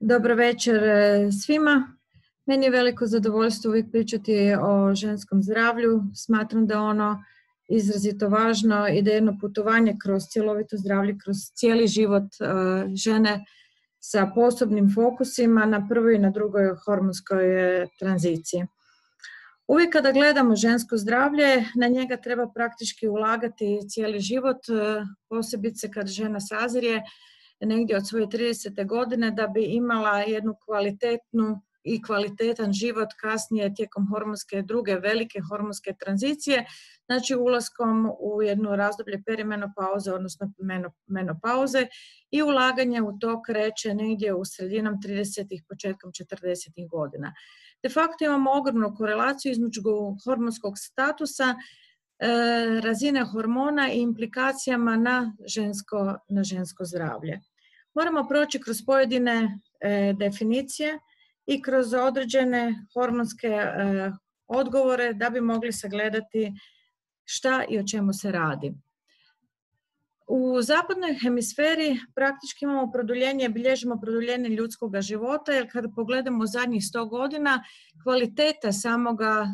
Dobro večer svima. Meni je veliko zadovoljstvo uvijek pričati o ženskom zdravlju. Smatram da je ono izrazito važno i da je jedno putovanje kroz cjelovito zdravlje, kroz cijeli život žene sa posebnim fokusima na prvoj i na drugoj hormonskoj tranziciji. Uvijek kada gledamo žensko zdravlje, na njega treba praktički ulagati cijeli život, posebice kad žena sazrije negdje od svoje 30. godine da bi imala jednu kvalitetnu i kvalitetan život kasnije tijekom druge velike hormonske tranzicije, znači ulaskom u jedno razdoblje perimenopauze, odnosno menopauze, i ulaganje u to kreće negdje u sredinom 30. početkom 40. godina. De facto imamo ogromnu korelaciju između hormonskog statusa, razine hormona i implikacijama na žensko zdravlje. Moramo proći kroz pojedine definicije i kroz određene hormonske odgovore da bi mogli sagledati šta i o čemu se radi. U zapadnoj hemisferi praktički imamo bilježimo produljenje ljudskog života, jer kada pogledamo zadnjih 100 godina, kvaliteta samoga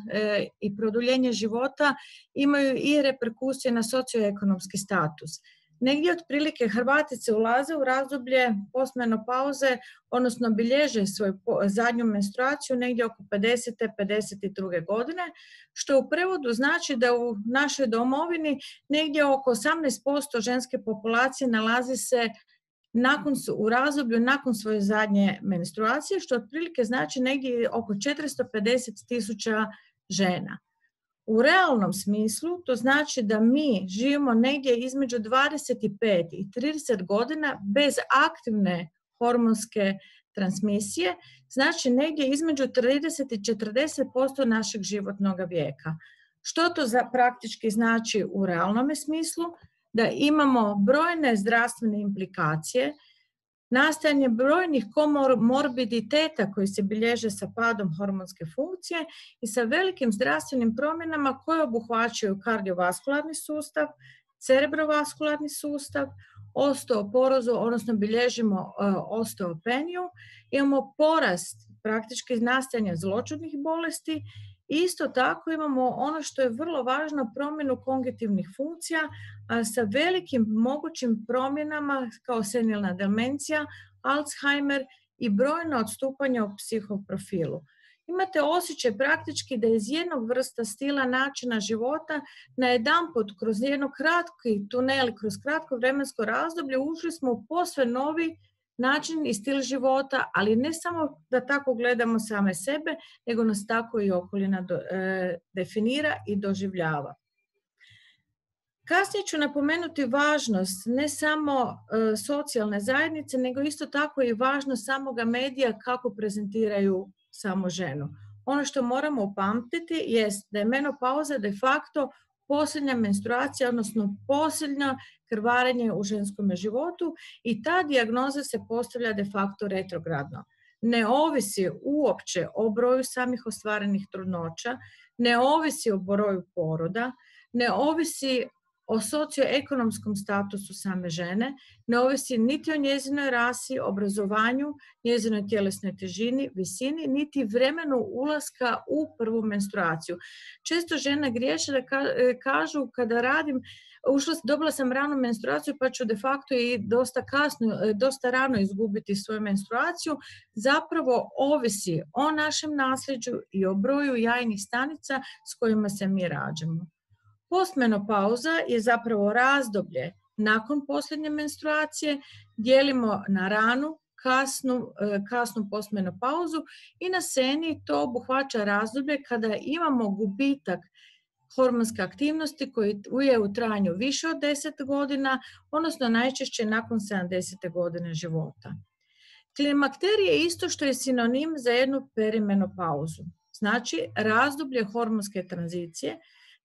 i produljenje života imaju i reperkusije na socioekonomski status. Negdje otprilike Hrvatice ulaze u razdoblje postmenopauze, odnosno bilježe svoju zadnju menstruaciju negdje oko 50. 52. godine, što u prevodu znači da u našoj domovini negdje oko 18% ženske populacije nalazi se u razdoblju nakon svoje zadnje menstruacije, što otprilike znači negdje oko 450.000 žena. U realnom smislu to znači da mi živimo negdje između 25 i 30 godina bez aktivne hormonske transmisije, znači negdje između 30 i 40% našeg životnog vijeka. Što to praktički znači u realnom smislu? Da imamo brojne zdravstvene implikacije, nastajanje brojnih komorbiditeta koji se bilježe sa padom hormonske funkcije i sa velikim zdravstvenim promjenama koje obuhvaćaju kardiovaskularni sustav, cerebrovaskularni sustav, osteoporozu, odnosno bilježimo osteopeniju, imamo porast praktički nastajanja zloćudnih bolesti. Isto tako imamo ono što je vrlo važno, promjenu kognitivnih funkcija sa velikim mogućim promjenama kao senilna demencija, Alzheimer i brojna odstupanja u psihoprofilu. Imate osjećaj praktički da iz jednog vrsta stila načina života najedanput kroz jedno kratki tunel, kroz kratko vremensko razdoblje ušli smo u posve novi način i stil života, ali ne samo da tako gledamo same sebe, nego nas tako i okolina definira i doživljava. Kasnije ću napomenuti važnost ne samo socijalne zajednice, nego isto tako i važnost samoga medija kako prezentiraju samu ženu. Ono što moramo upamtiti jest da je menopauza de facto posljednja menstruacija, odnosno posljednje krvarenje u ženskom životu i ta dijagnoza se postavlja de facto retrogradno. Ne ovisi uopće o broju samih ostvarenih trudnoća, ne ovisi o broju poroda, ne ovisi o socioekonomskom statusu same žene, ne ovisi niti o njezinoj rasi, obrazovanju, njezinoj tjelesnoj težini, visini, niti vremenu ulaska u prvu menstruaciju. Često žene griješe da kažu kada radim, dobila sam ranu menstruaciju pa ću de facto i dosta rano izgubiti svoju menstruaciju. Zapravo ovisi o našem nasljeđu i o broju jajnih stanica s kojima se mi rađamo. Postmenopauza je zapravo razdoblje nakon posljednje menstruacije, dijelimo na ranu, kasnu postmenopauzu i na seni to obuhvaća razdoblje kada imamo gubitak hormonske aktivnosti koji je u trajanju više od 10 godina, odnosno najčešće nakon 70. godine života. Klimakterij je isto što je sinonim za jednu perimenopauzu, znači razdoblje hormonske tranzicije,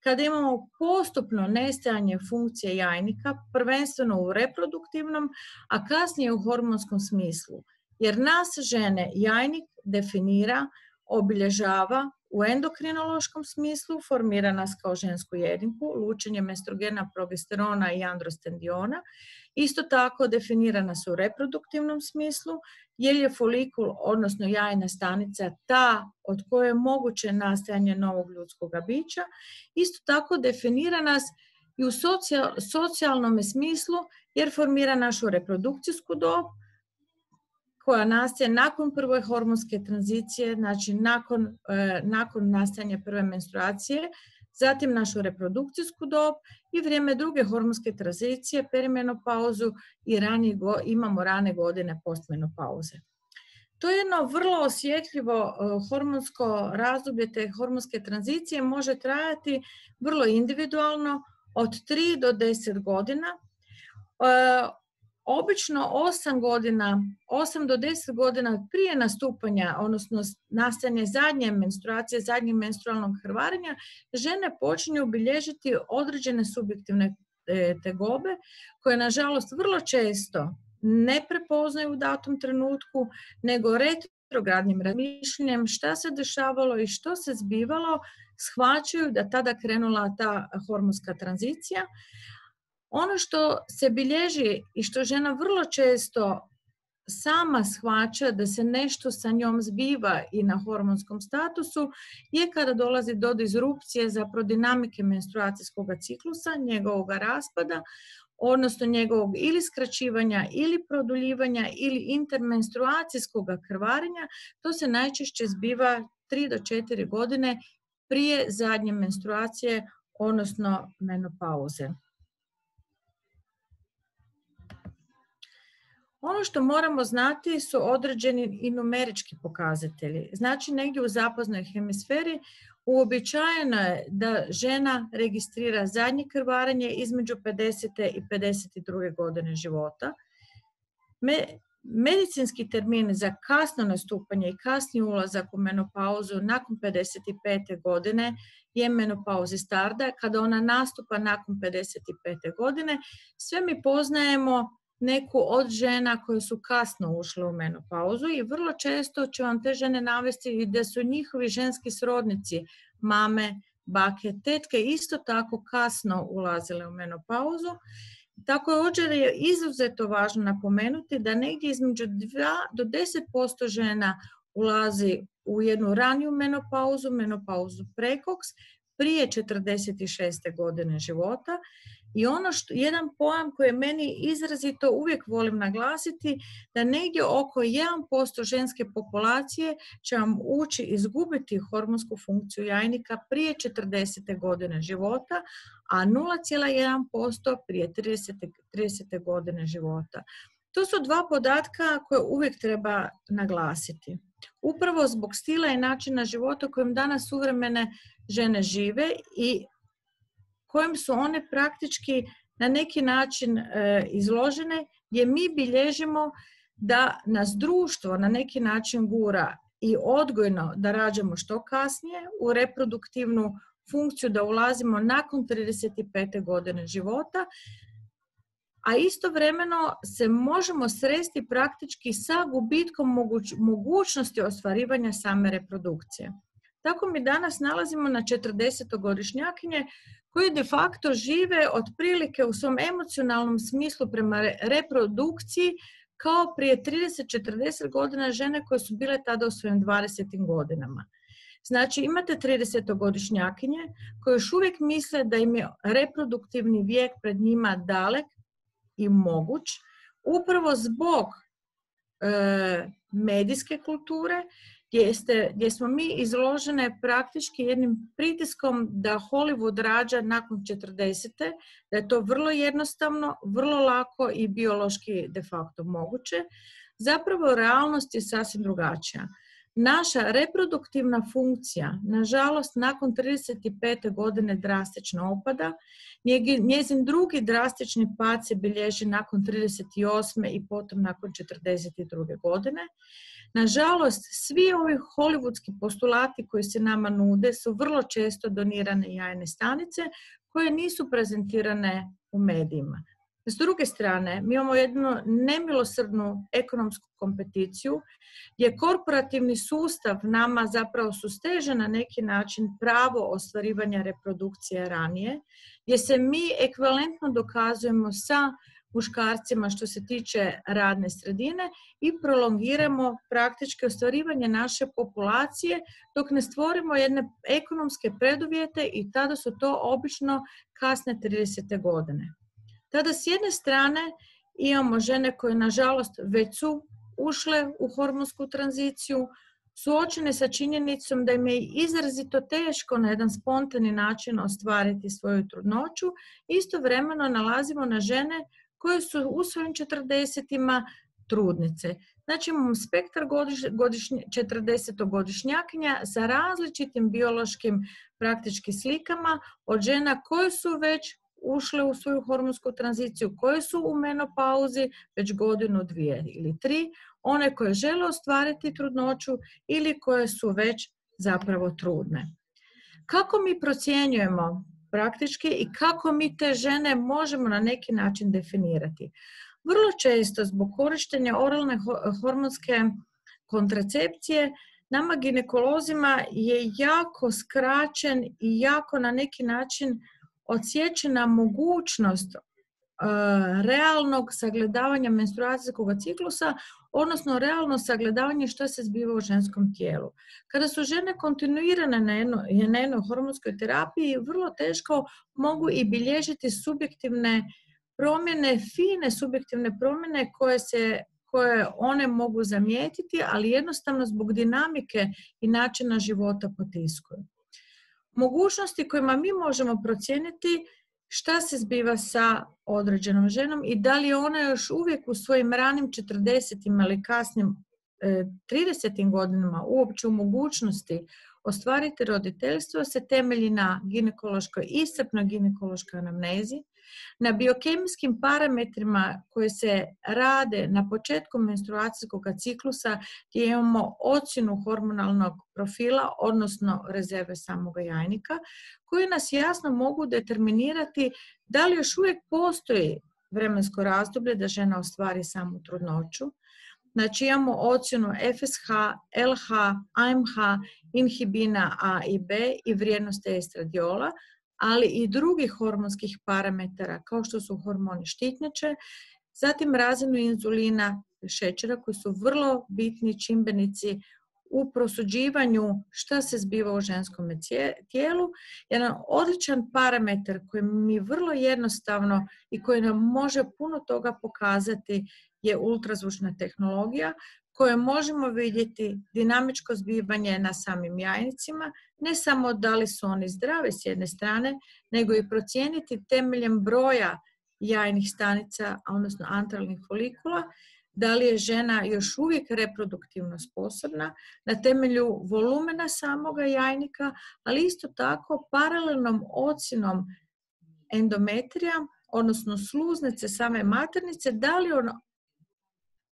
kada imamo postupno nestajanje funkcije jajnika, prvenstveno u reproduktivnom, a kasnije u hormonskom smislu. Jer nas žene jajnik definira, obilježava u endokrinološkom smislu, formira nas kao žensku jedinku, lučenjem estrogena, progesterona i androstendiona, Isto tako definirana su u reproduktivnom smislu, jer je folikul, odnosno jajna stanica, ta od koje je moguće nastajanje novog ljudskog bića. Isto tako definira nas i u socijalnom smislu, jer formira našu reprodukcijsku dob, koja nastaje nakon prve hormonske tranzicije, znači nakon nastajanja prve menstruacije, zatim našu reprodukcijsku dob i vrijeme druge hormonske tranzicije, perimenopauzu i imamo rane godine postmenopauze. To je jedno vrlo osjetljivo hormonsko razdoblje te hormonske tranzicije, može trajati vrlo individualno od 3 do 10 godina. Obično 8 do 10 godina prije nastupanja, odnosno nastajanja zadnje menstruacije, zadnjeg menstrualnog krvarenja, žene počinju bilježiti određene subjektivne tegobe koje nažalost vrlo često ne prepoznaju u datom trenutku, nego retrogradnim razmišljanjem šta se dešavalo i što se zbivalo, shvaćaju da tada krenula ta hormonska tranzicija. Ono što se bilježi i što žena vrlo često sama shvaća da se nešto sa njom zbiva i na hormonskom statusu je kada dolazi do disrupcije zapravo dinamike menstruacijskog ciklusa, njegovog raspada, odnosno njegovog ili skraćivanja ili produljivanja ili intermenstruacijskog krvarenja. To se najčešće zbiva 3 do 4 godine prije zadnje menstruacije, odnosno menopauze. Ono što moramo znati su određeni i numerički pokazatelji. Znači, negdje u zapadnoj hemisferi uobičajeno je da žena registrira zadnje krvarenje između 50. i 52. godine života. Medicinski termin za kasno nastupanje i kasni ulazak u menopauzu nakon 55. godine je menopauzi tarda, kada ona nastupa nakon 55. godine. Sve mi poznajemo neku od žena koje su kasno ušle u menopauzu i vrlo često će vam te žene navesti da su njihovi ženski srodnici, mame, bake, tetke isto tako kasno ulazile u menopauzu. Također je izuzetno važno napomenuti da negdje između 2 do 10% žena ulazi u jednu raniju menopauzu prekoks, prije 46. godine života. I jedan pojam koji meni izrazito uvijek volim naglasiti, da negdje oko 1% ženske populacije će vam ući izgubiti hormonsku funkciju jajnika prije 40. godine života, a 0,1% prije 30. godine života. To su dva podatka koje uvijek treba naglasiti. Upravo zbog stila i načina života kojim danas suvremene žene žive i kojim su one praktički na neki način izložene, gdje mi bilježimo da nas društvo na neki način gura i odgojno da rađamo što kasnije, u reproduktivnu funkciju da ulazimo nakon 35. godine života, a istovremeno se možemo sresti praktički sa gubitkom mogućnosti ostvarivanja same reprodukcije. Tako mi danas nalazimo na 40-godišnjakinje koji de facto žive otprilike u svom emocionalnom smislu prema reprodukciji kao prije 30-40 godina žene koje su bile tada u svojim 20. godinama. Znači imate 30-godišnjakinje koje još uvijek misle da im je reproduktivni vijek pred njima dalek i moguć, upravo zbog medijske kulture, gdje smo mi izložene praktički jednim pritiskom da Hollywood rađa nakon 40. Da je to vrlo jednostavno, vrlo lako i biološki de facto moguće. Zapravo realnost je sasvim drugačija. Naša reproduktivna funkcija, nažalost, nakon 35. godine drastično opada. Njezin drugi drastični pad se bilježi nakon 38. i potom nakon 42. godine. Nažalost, svi ovi hollywoodski postulati koji se nama nude su vrlo često donirane jajne stanice koje nisu prezentirane u medijima. S druge strane, mi imamo jednu nemilosrdnu ekonomsku kompeticiju gdje korporativni sustav nama zapravo susteže na neki način pravo ostvarivanja reprodukcije ranije, gdje se mi ekvivalentno dokazujemo sa muškarcima što se tiče radne sredine i prolongiramo praktički ostvarivanje naše populacije dok ne stvorimo jedne ekonomske preduvjete i tada su to obično kasne 30. godine. Tada s jedne strane imamo žene koje nažalost već su ušle u hormonsku tranziciju, suočene sa činjenicom da im je izrazito teško na jedan spontani način ostvariti svoju trudnoću. Istovremeno nalazimo na žene koje su u svojim 40-ima trudnice. Znači imamo spektar 40-godišnjakinja sa različitim biološkim praktički slikama od žena koje su već ušle u svoju hormonsku tranziciju, koje su u menopauzi već godinu, 2 ili 3, one koje žele ostvariti trudnoću ili koje su već zapravo trudne. Kako mi procjenjujemo praktički i kako mi te žene možemo na neki način definirati? Vrlo često zbog korištenja oralne hormonske kontracepcije nama ginekolozima je jako skraćen i jako na neki način odsječena mogućnost realnog sagledavanja menstruacijskog ciklusa, odnosno realno sagledavanje što se zbiva u ženskom tijelu. Kada su žene kontinuirane na jednoj hormonskoj terapiji, vrlo teško mogu i bilježiti subjektivne promjene, fine subjektivne promjene koje one mogu zamijetiti, ali jednostavno zbog dinamike i načina života potiskuju. Mogućnosti kojima mi možemo procijeniti šta se zbiva sa određenom ženom i da li je ona još uvijek u svojim ranim 40-im ili kasnim 30-im godinama uopće u mogućnosti ostvariti roditeljstvo, se temelji na iscrpnoj ginekološkoj anamnezi, na biokemijskim parametrima koji se rade na početku menstruacijskog ciklusa gdje imamo ocjenu hormonalnog profila, odnosno rezerve samoga jajnika, koji nas jasno mogu determinirati da li još uvijek postoji vremensko razdoblje da žena ostvari samu trudnoću. Znači imamo ocjenu FSH, LH, AMH, inhibina A i B i vrijednost estradiola, ali i drugih hormonskih parametara kao što su hormoni štitnjače, zatim razinu inzulina, šećera koji su vrlo bitni čimbenici u prosuđivanju šta se zbiva u ženskom tijelu. Jedan odličan parametar koji mi vrlo jednostavno i koji nam može puno toga pokazati je ultrazvučna tehnologija koje možemo vidjeti dinamičko zbivanje na samim jajnicima, ne samo da li su oni zdravi s jedne strane, nego i procijeniti temeljem broja jajnih stanica, odnosno antralnih folikula, da li je žena još uvijek reproduktivno sposobna na temelju volumena samoga jajnika, ali isto tako paralelnom ocjenom endometrija, odnosno sluznice same maternice, da li ona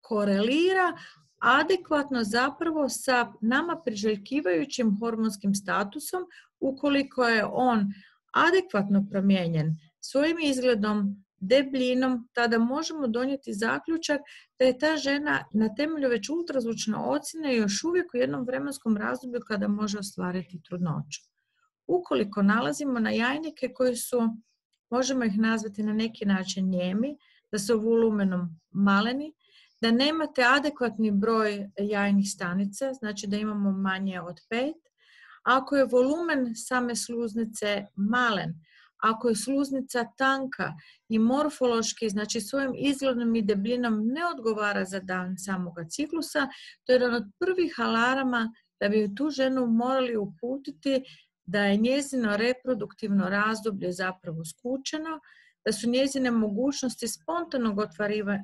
korelira adekvatno zapravo sa nama priželjkivajućim hormonskim statusom. Ukoliko je on adekvatno promijenjen svojim izgledom, debljinom, tada možemo donijeti zaključak da je ta žena na temelju već ultrazvučne ocjene još uvijek u jednom vremenskom razdoblju kada može ostvariti trudnoću. Ukoliko nalazimo na jajnike koji su, možemo ih nazvati na neki način nijemi, da su volumenom maleni, da nemate adekvatni broj jajnih stanica, znači da imamo manje od 5. Ako je volumen same sluznice malen, ako je sluznica tanka i morfološki, znači svojim izgledom i debljinom ne odgovara za dan samoga ciklusa, to je jedan od prvih alarama da bi tu ženu morali uputiti da je njezino reproduktivno razdoblje zapravo skučeno, da su njezine mogućnosti spontanog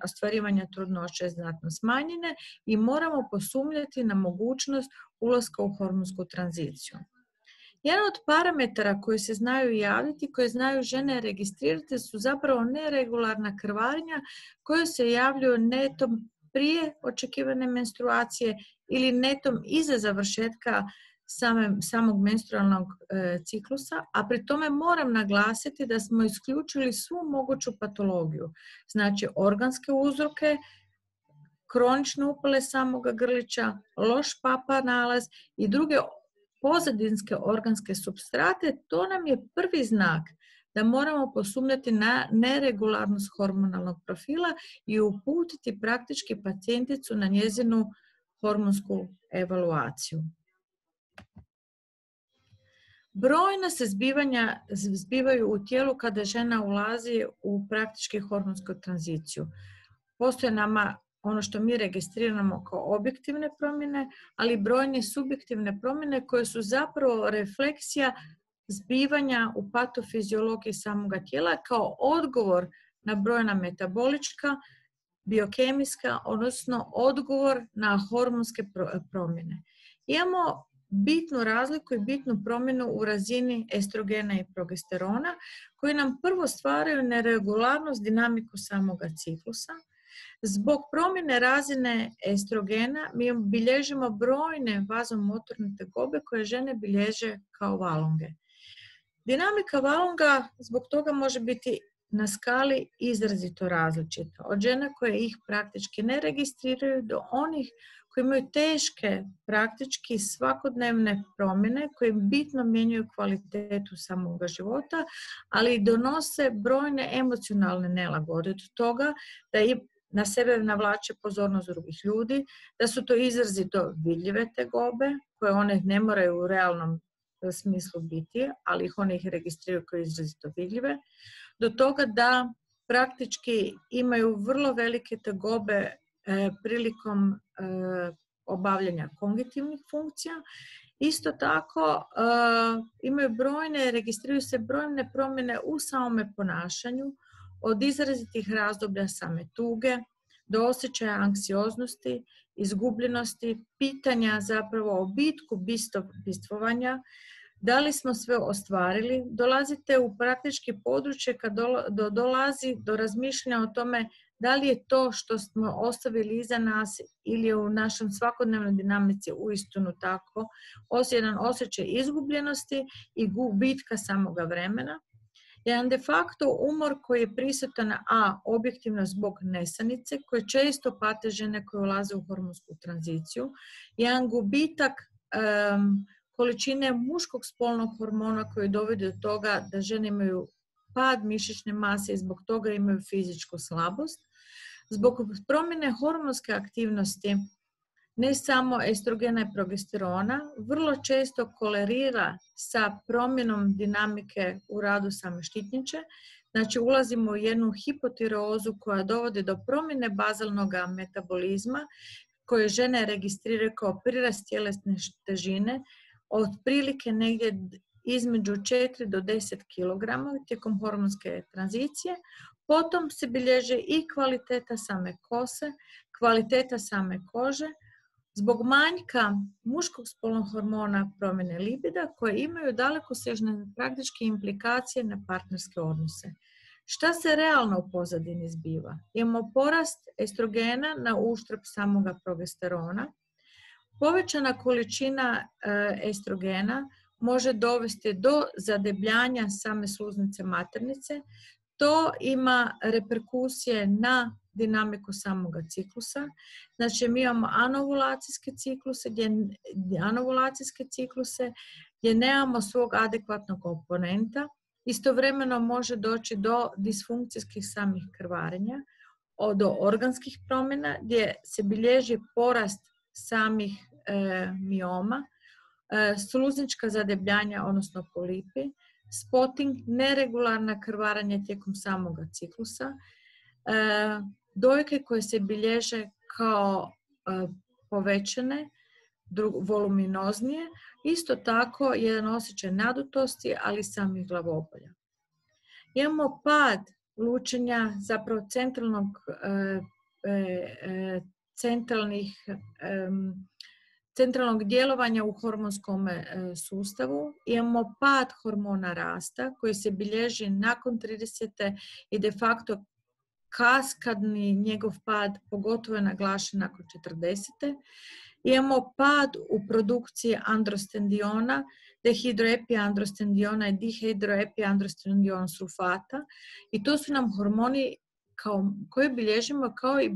ostvarivanja trudnoće znatno smanjene i moramo posumnjati na mogućnost ulaska u hormonsku tranziciju. Jedan od parametara koji se znaju javiti, koje znaju žene registrirati, su zapravo neregularna krvarenja koje se javljaju netom prije očekivane menstruacije ili netom iza završetka samog menstrualnog ciklusa, a pri tome moram naglasiti da smo isključili svu moguću patologiju, znači organske uzroke, kronične upale samoga grlića, loš papa nalaz i druge pozadinske organske supstrate. To nam je prvi znak da moramo posumnjati na neregularnost hormonalnog profila i uputiti praktički pacijenticu na njezinu hormonsku evaluaciju. Brojna se zbivaju u tijelu kada žena ulazi u praktički hormonsku tranziciju. Postoje nama ono što mi registriramo kao objektivne promjene, ali brojne subjektivne promjene koje su zapravo refleksija zbivanja u patofiziologiji samoga tijela kao odgovor na brojna metabolička, biokemijska, odnosno odgovor na hormonske promjene. Imamo bitnu razliku i bitnu promjenu u razini estrogena i progesterona koji nam prvo stvaraju neregularnost dinamiku samoga ciklusa. Zbog promjene razine estrogena mi bilježimo brojne vazomotorne tegobe koje žene bilježe kao valunge. Dinamika valunga zbog toga može biti na skali izrazito različita. Od žena koje ih praktički ne registriraju do onih koji imaju teške, praktički svakodnevne promjene koje bitno mijenjaju kvalitetu samoga života, ali donose brojne emocionalne nelagode od toga da na sebe navlače pozornost drugih ljudi, da su to izrazito vidljive tegobe koje one ne moraju u realnom smislu biti, ali one ih registriraju kao izrazito vidljive, do toga da praktički imaju vrlo velike tegobe prilikom obavljanja kognitivnih funkcija. Isto tako registriraju se brojne promjene u samome ponašanju, od izrazitih razdoblja same tuge do osjećaja anksioznosti, izgubljenosti, pitanja zapravo o bitku bistvovanja, da li smo sve ostvarili. Dolazite u praktički područje kad dolazi do razmišljanja o tome da li je to što smo ostavili iza nas ili je u našem svakodnevnoj dinamici uistinu tako, jedan osjećaj izgubljenosti i gubitka samoga vremena. Jedan de facto umor koji je prisutan, objektivno zbog nesanice, koje često pate žene koje ulaze u hormonsku tranziciju, jedan gubitak količine muškog spolnog hormona koji dovodi do toga da žene imaju pad mišićne mase i zbog toga imaju fizičku slabost. Zbog promjene hormonske aktivnosti, ne samo estrogena i progesterona, vrlo često kolerira sa promjenom dinamike u radu same štitnjače. Znači ulazimo u jednu hipotireozu koja dovodi do promjene bazalnog metabolizma koje žene registriraju kao prirast tjelesne težine otprilike negdje između 4 do 10 kg tijekom hormonske tranzicije. Potom se bilježe i kvaliteta same kose, kvaliteta same kože, zbog manjka muškog spolnog hormona promjene libida koje imaju dalekosežne praktičke implikacije na partnerske odnose. Šta se realno u pozadini zbiva? Imamo porast estrogena na uštrb samoga progesterona. Povećana količina estrogena može dovesti do zadebljanja same sluznice maternice. To ima reperkusije na dinamiku samoga ciklusa. Znači mi imamo anovulacijske cikluse gdje nemamo svog adekvatnog komponenta. Istovremeno može doći do disfunkcijskih samih krvarenja, do organskih promjena gdje se bilježi porast samih mioma, sluznička zadebljanja, odnosno polipi, spotting, neregularna krvaranja tijekom samoga ciklusa, dojke koje se bilježe kao povećane, voluminoznije, isto tako jedan osjećaj nadutosti, ali samih glavobolja. Imamo pad lučenja zapravo centralnog djelovanja u hormonskom sustavu. Imamo pad hormona rasta koji se bilježi nakon 30. i de facto kaskadni njegov pad pogotovo je naglašen nakon 40. Imamo pad u produkciji androstendiona, dehidroepiandrostendiona i dihidroepiandrostendion sulfata i to su nam hormoni koje bilježimo kao i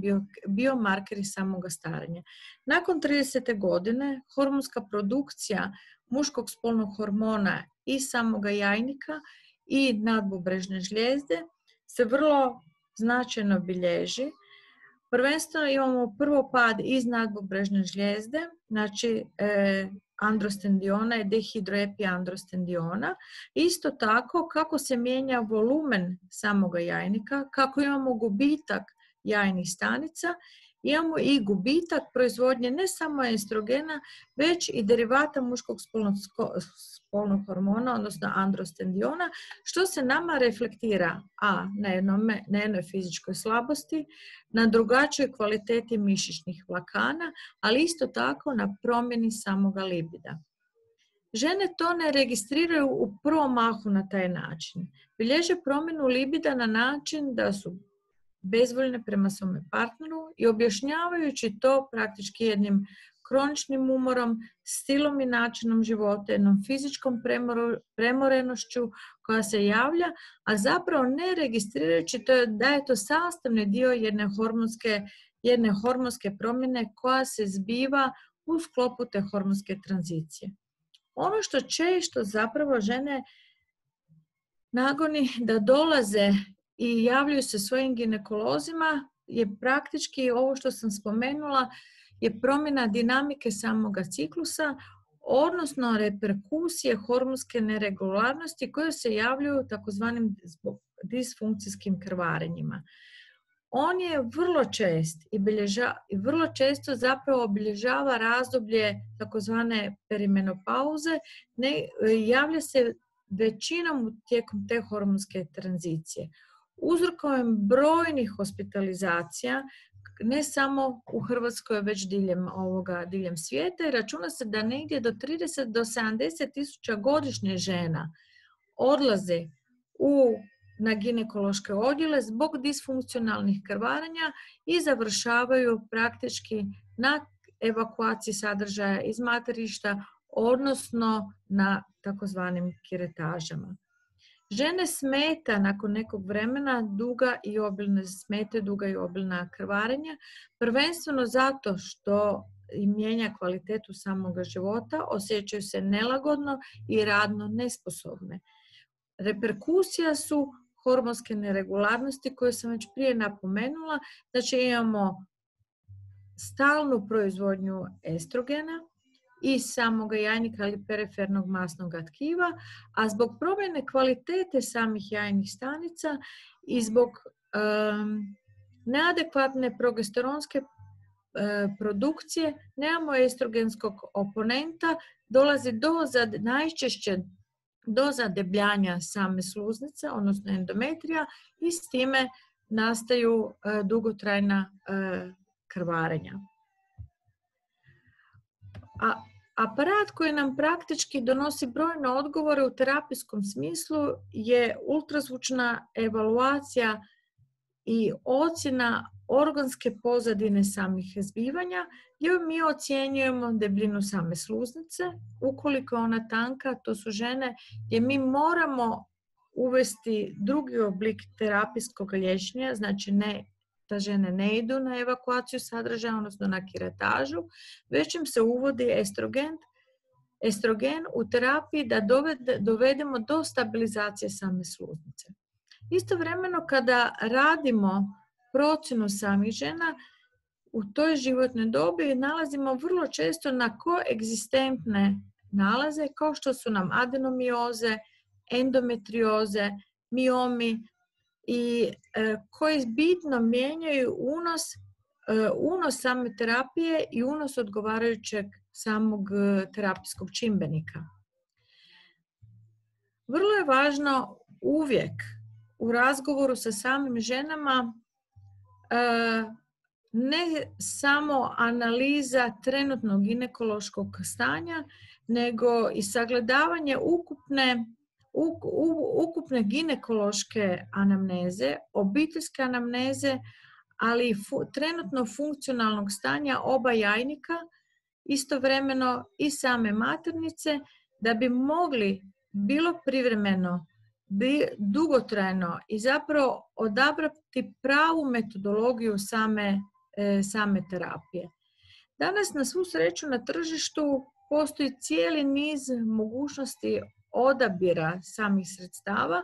biomarkeri samoga starenja. Nakon 30. godine hormonska produkcija muškog spolnog hormona i samoga jajnika i nadbubrežne žlijezde se vrlo značajno bilježi. Prvenstveno imamo prvo pad iz nadbubrežne žlijezde, znači androstendiona i dehidroepiandrostendiona. Isto tako kako se mijenja volumen samoga jajnika, kako imamo gubitak jajnih stanica, imamo i gubitak proizvodnje ne samo estrogena, već i derivata muškog spolnog hormona, odnosno androstendiona, što se nama reflektira na jednoj fizičkoj slabosti, na drugačijoj kvaliteti mišićnih vlakana, ali isto tako na promjeni samoga libida. Žene to ne registriraju u prvom mahu na taj način. Bilježe promjenu libida na način da su bezvoljne prema svome partneru i objašnjavajući to praktički jednim kroničnim umorom, stilom i načinom života, jednom fizičkom premorenošću koja se javlja, a zapravo ne registrirajući to da je to sastavni dio jedne hormonske promjene koja se zbiva u sklopu te hormonske tranzicije. Ono što često zapravo žene nagoni da dolaze i javljaju se svojim ginekolozima je praktički ovo što sam spomenula, je promjena dinamike samoga ciklusa, odnosno reperkusije hormonske neregularnosti koje se javljaju takozvanim disfunkcijskim krvarenjima. On je vrlo čest i vrlo često zapravo obilježava razdoblje takozvane perimenopauze, javlja se većinom tijekom te hormonske tranzicije. Uzrokom brojnih hospitalizacija, ne samo u Hrvatskoj, već diljem svijeta, i računa se da negdje do 30 do 70 tisuća godišnje žena odlaze na ginekološke odjele zbog disfunkcionalnih krvarenja i završavaju praktički na evakuaciji sadržaja iz materišta, odnosno na takozvanim kiretažama. Žene smeta nakon nekog vremena duga i obilna krvarenja, prvenstveno zato što im mijenja kvalitetu samoga života, osjećaju se nelagodno i radno nesposobne. Reperkusija su hormonske neregularnosti koje sam već prije napomenula, znači imamo stalnu proizvodnju estrogena i samoga jajnika ili perifernog masnog tkiva, a zbog promjene kvalitete samih jajnih stanica i zbog neadekvatne progesteronske produkcije nemamo estrogenskog oponenta, dolazi najčešće do zadebljanja same sluznice, odnosno endometrija, i s time nastaju dugotrajna krvarenja. Aparat koji nam praktički donosi brojne odgovore u terapijskom smislu je ultrazvučna evaluacija i ocjena organske pozadine samih zbivanja, gdje mi ocjenjujemo debljinu same sluznice. Ukoliko je ona tanka, to su žene gdje mi moramo uvesti drugi oblik terapijskog liječenja, znači da žene ne idu na evakuaciju sadržaja, odnosno na kiretažu, već im se uvodi estrogen u terapiji da dovedemo do stabilizacije same sluznice. Istovremeno kada radimo procjenu samih žena, u toj životnoj dobi nalazimo vrlo često na koegzistentne nalaze kao što su nam adenomioze, endometrioze, miomi i koji bitno mijenjaju unos same terapije i unos odgovarajućeg samog terapijskog čimbenika. Vrlo je važno uvijek u razgovoru sa samim ženama ne samo analiza trenutnog ginekološkog stanja, nego i sagledavanje ukupne ginekološke anamneze, obiteljske anamneze, ali i trenutno funkcionalnog stanja oba jajnika, istovremeno i same maternice, da bi mogli bilo privremeno, dugotrajno i zapravo odabrati pravu metodologiju same terapije. Danas na svu sreću na tržištu postoji cijeli niz mogućnosti odabira samih sredstava,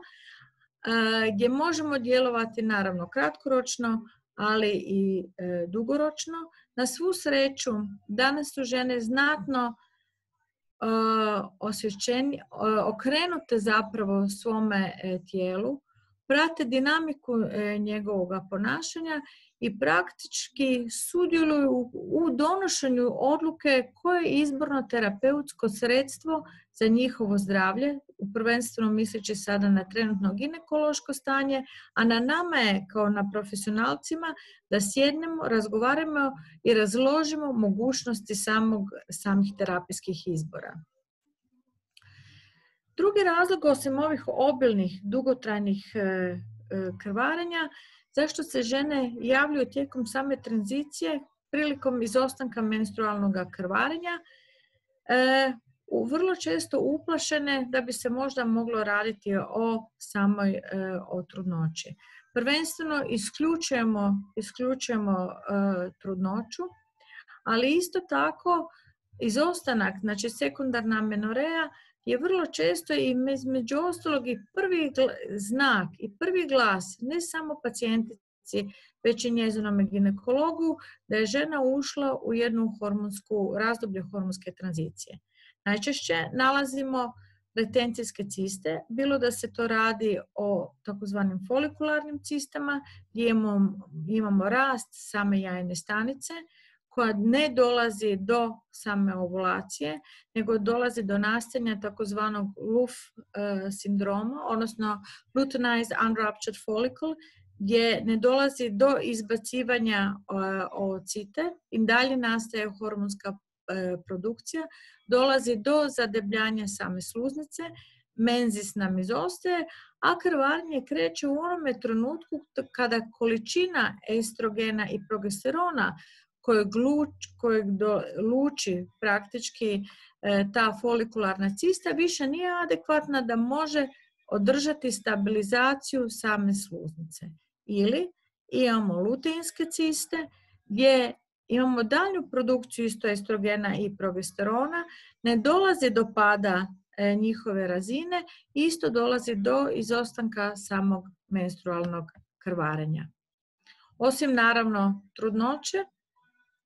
gdje možemo djelovati naravno kratkoročno, ali i dugoročno. Na svu sreću, danas su žene znatno okrenute zapravo svome tijelu, prate dinamiku njegovoga ponašanja i praktički sudjeluju u donošenju odluke koje je izborno terapeutsko sredstvo za njihovo zdravlje, prvenstveno misleći sada na trenutno ginekološko stanje, a na nama je kao na profesionalcima da sjednemo, razgovaramo i razložimo mogućnosti samih terapijskih izbora. Drugi razlog, osim ovih obilnih, dugotrajnih krvarenja, zašto se žene javljaju tijekom same tranzicije prilikom izostanka menstrualnog krvarenja, vrlo često uplašene da bi se možda moglo raditi o trudnoći. Prvenstveno isključujemo trudnoću, ali isto tako izostanak, znači sekundarna amenoreja, je vrlo često i između ostalog i prvi znak i prvi glas ne samo pacijentici, već i njezinom ginekologu da je žena ušla u jednu razdoblje hormonske tranzicije. Najčešće nalazimo retencijske ciste, bilo da se to radi o takozvanim folikularnim cistama, gdje imamo rast same jajne stanice, koja ne dolazi do same ovulacije, nego dolazi do nastajanja takozvanog LUF sindroma, odnosno luteinized unruptured follicle, gdje ne dolazi do izbacivanja oocite i dalje nastaje hormonska produkcija, dolazi do zadebljanja same sluznice, menzis nam izostaje, a krvarenje kreće u onome trenutku kada količina estrogena i progesterona kojeg luči praktički ta folikularna cista više nije adekvatna da može održati stabilizaciju same sluznice. Ili imamo luteinske ciste gdje imamo daljnju produkciju isto estrogena i progesterona, ne dolazi do pada njihove razine, isto dolazi do izostanka samog menstrualnog krvarenja. Osim naravno trudnoće,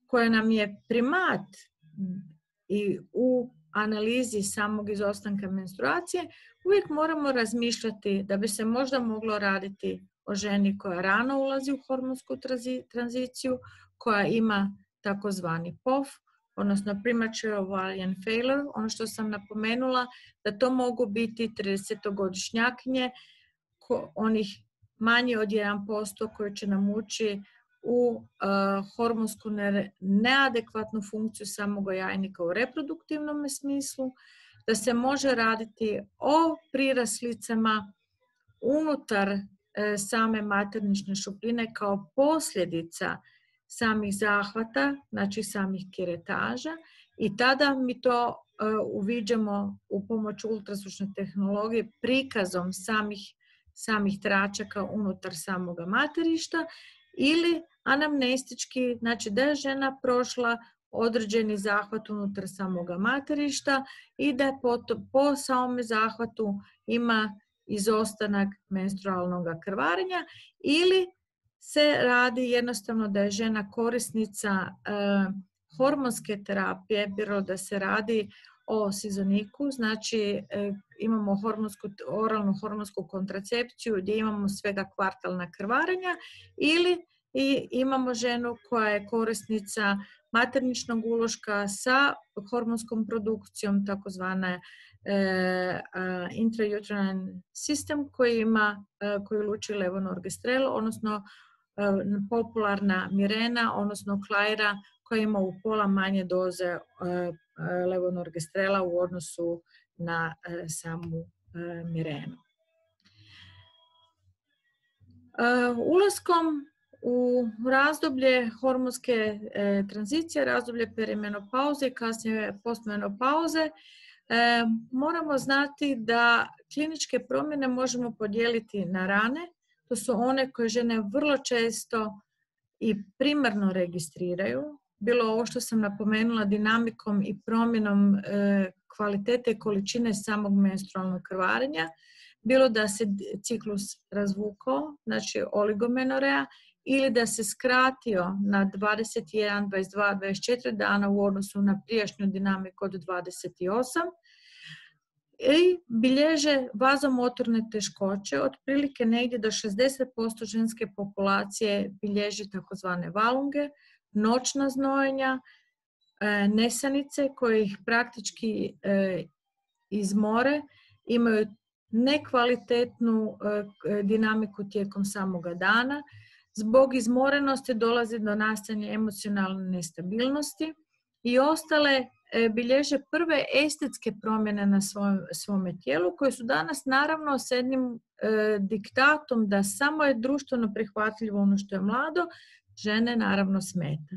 koja nam je primat i u analizi samog izostanka menstruacije, uvijek moramo razmišljati da bi se možda moglo raditi o ženi koja rano ulazi u hormonsku tranziciju, koja ima takozvani POF, odnosno premature ovarian failure, ono što sam napomenula, da to mogu biti 30-godišnjakinje, onih manje od 1% koji će nam ući u hormonsku neadekvatnu funkciju samog jajnika u reproduktivnom smislu, da se može raditi o priraslicama unutar same maternične šupljine kao posljedica samih zahvata, znači samih kiretaža, i tada mi to uviđamo u pomoću ultrazvučne tehnologije prikazom samih tračaka unutar samoga materišta, ili anamnestički, znači da je žena prošla određeni zahvat unutar samoga materišta i da po samome zahvatu ima izostanak menstrualnog krvarenja, ili se radi jednostavno da je žena korisnica hormonske terapije, bilo da se radi o sizoniku, znači imamo oralnu hormonsku kontracepciju gdje imamo svega kvartalna krvarenja, ili imamo ženu koja je korisnica materničnog uloška sa hormonskom produkcijom, takozvana intrauterine sistem koji luči levonorgestrel, odnosno popularna Mirena, odnosno Klaira, koja ima u pola manje doze levonorgestrela u odnosu na samu Mirenu. Ulaskom u razdoblje hormonske tranzicije, razdoblje perimenopauze i kasnije postmenopauze, moramo znati da kliničke promjene možemo podijeliti na rane. To su one koje žene vrlo često i primarno registriraju, bilo ovo što sam napomenula dinamikom i promjenom kvalitete i količine samog menstrualnog krvarenja, bilo da se ciklus razvukao, znači oligomenoreja, ili da se skratio na 21, 22, 24 dana u odnosu na prijašnju dinamiku od 28, i bilježe vazomotorne teškoće, otprilike negdje do 60% ženske populacije bilježi takozvane valunge, noćna znojenja, nesanice koje ih praktički izmore, imaju nekvalitetnu dinamiku tijekom samoga dana. Zbog izmorenosti dolazi do nastajanja emocionalne nestabilnosti i ostale bilježe prve estetske promjene na svome tijelu, koje su danas naravno s jednim diktatom da samo je društveno prihvatljivo ono što je mlado, žene naravno smeta.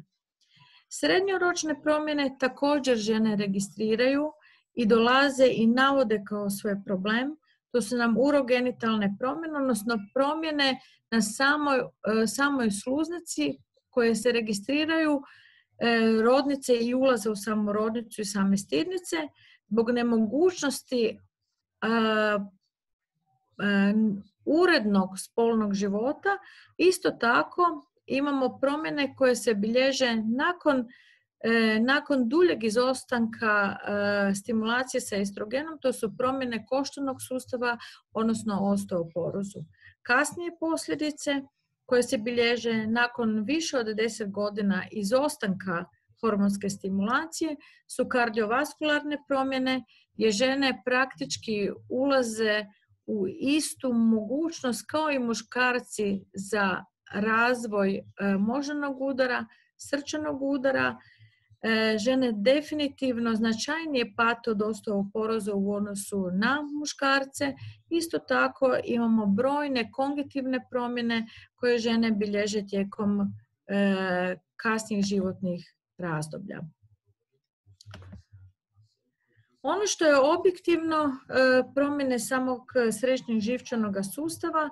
Srednjoročne promjene također žene registriraju i dolaze i navode kao svoj problem. To su nam urogenitalne promjene, odnosno promjene na samoj sluznici koje se registriraju rodnice i ulaze u samu rodnicu i same stidnice zbog nemogućnosti urednog spolnog života. Isto tako imamo promjene koje se bilježe nakon duljeg izostanka stimulacije sa estrogenom. To su promjene koštanog sustava, odnosno osteoporozu. Kasnije posljedice koje se bilježe nakon više od 10 godina izostanka hormonske stimulacije su kardiovaskularne promjene, gdje žene praktički ulaze u istu mogućnost kao i muškarci za razvoj moždanog udara, srčanog udara. Žene definitivno značajnije pate od osteoporoza u odnosu na muškarce. Isto tako imamo brojne kongitivne promjene koje žene bilježe tijekom kasnijih životnih razdoblja. Ono što je objektivno promjene samog središnjeg živčanog sustava,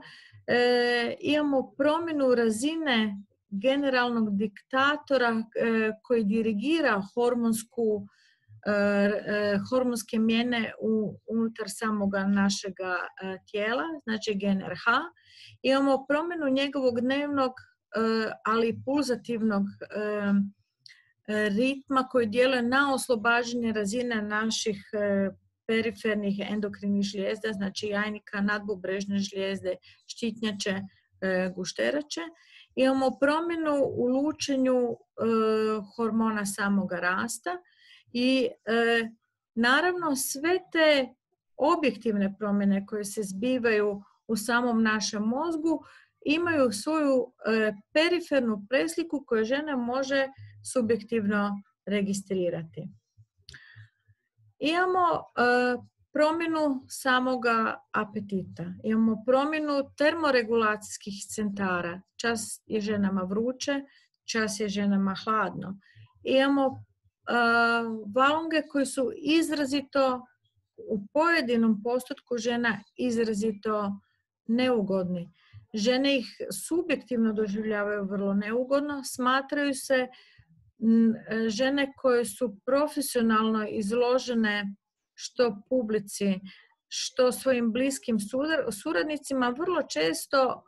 imamo promjenu razine generalnog diktatora koji dirigira hormonske mijene unutar samoga našega tijela, znači gen RH. Imamo promjenu njegovog dnevnog, ali i pulzativnog ritma koji djeluje na oslobađanje razine naših perifernih endokrinih žlijezda, znači jajnika, nadbubrežne žlijezde, štitnjače, gušterače. Imamo promjenu u lučenju hormona samoga rasta i naravno sve te objektivne promjene koje se zbivaju u samom našem mozgu imaju svoju perifernu presliku koju žena može subjektivno registrirati. Imamo promjenu samoga apetita, imamo promjenu termoregulacijskih centara, čas je ženama vruće, čas je ženama hladno. Imamo valunge koji su izrazito u pojedinom postotku žena izrazito neugodni. Žene ih subjektivno doživljavaju vrlo neugodno, smatraju se žene koje su profesionalno izložene što publici, što svojim bliskim suradnicima. Vrlo često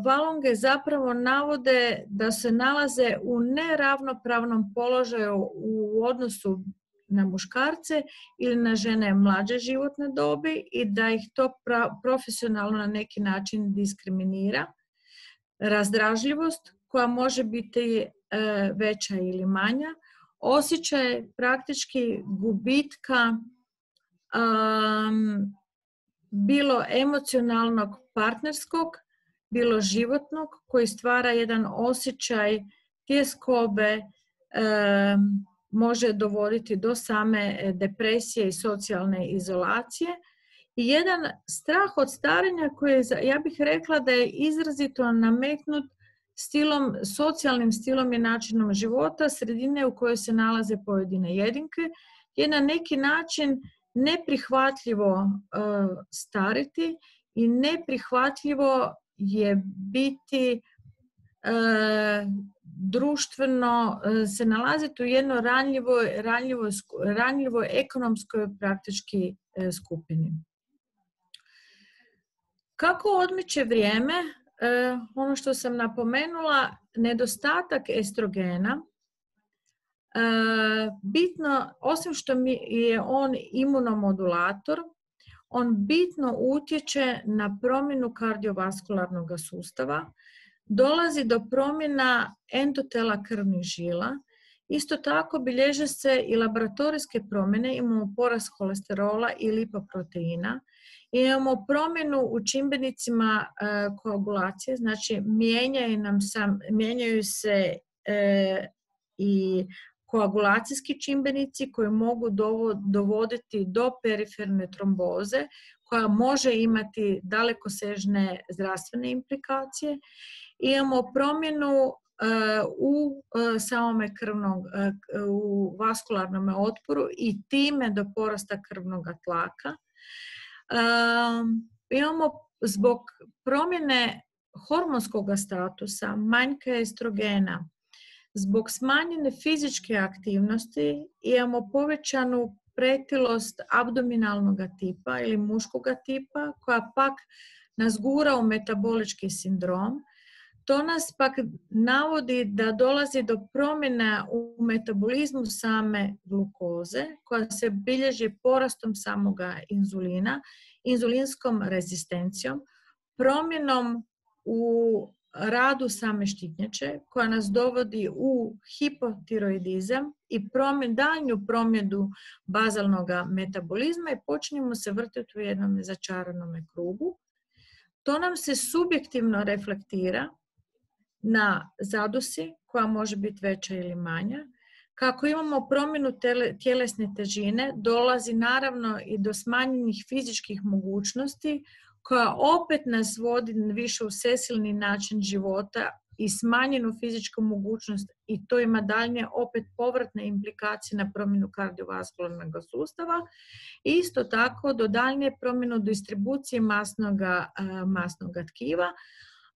valunge zapravo navode da se nalaze u neravnopravnom položaju u odnosu na muškarce ili na žene mlađe životne dobi i da ih to profesionalno na neki način diskriminira. Razdražljivost koja može biti veća ili manja, osjećaj praktički gubitka bilo emocionalnog partnerskog, bilo životnog, koji stvara jedan osjećaj tjeskobe, može dovoditi do same depresije i socijalne izolacije. I jedan strah od starenja koji, ja bih rekla da je izrazito nametnut socijalnim stilom i načinom života, sredine u kojoj se nalaze pojedine jedinke, je na neki način neprihvatljivo stariti i neprihvatljivo je biti društveno se nalaziti u jednoj ranjivoj ekonomskoj praktički skupini. Kako odmiče vrijeme, ono što sam napomenula, nedostatak estrogena, bitno, osim što je on imunomodulator, on bitno utječe na promjenu kardiovaskularnog sustava, dolazi do promjena endotela krvnih žila. Isto tako bilježe se i laboratorijske promjene, imamo porast holesterola i lipoproteina, imamo promjenu u čimbenicima koagulacije, znači mijenjaju se i koagulacijski čimbenici koji mogu dovoditi do periferne tromboze, koja može imati dalekosežne zdravstvene implikacije. Imamo promjenu u samome u vaskularnom otporu i time do porasta krvnog tlaka. Imamo zbog promjene hormonskog statusa, manjka estrogena, zbog smanjene fizičke aktivnosti imamo povećanu pretilost abdominalnog tipa ili muškog tipa, koja pak nas gura u metabolički sindrom. To nas pak navodi da dolazi do promjena u metabolizmu same glukoze, koja se bilježi porastom samoga inzulina, inzulinskom rezistencijom, promjenom u radu same štitnjače, koja nas dovodi u hipotiroidizam i daljnju promjenu bazalnog metabolizma i počinjemo se vrtiti u jednom začaranom krugu. To nam se subjektivno reflektira na zadusi, koja može biti veća ili manja. Kako imamo promjenu tjelesne težine, dolazi naravno i do smanjenih fizičkih mogućnosti, koja opet nas vodi više u sesilni način života i smanjenu fizičku mogućnost, i to ima daljnje opet povratne implikacije na promjenu kardiovaskularnog sustava. Isto tako do daljnje promjenu distribucije masnog tkiva,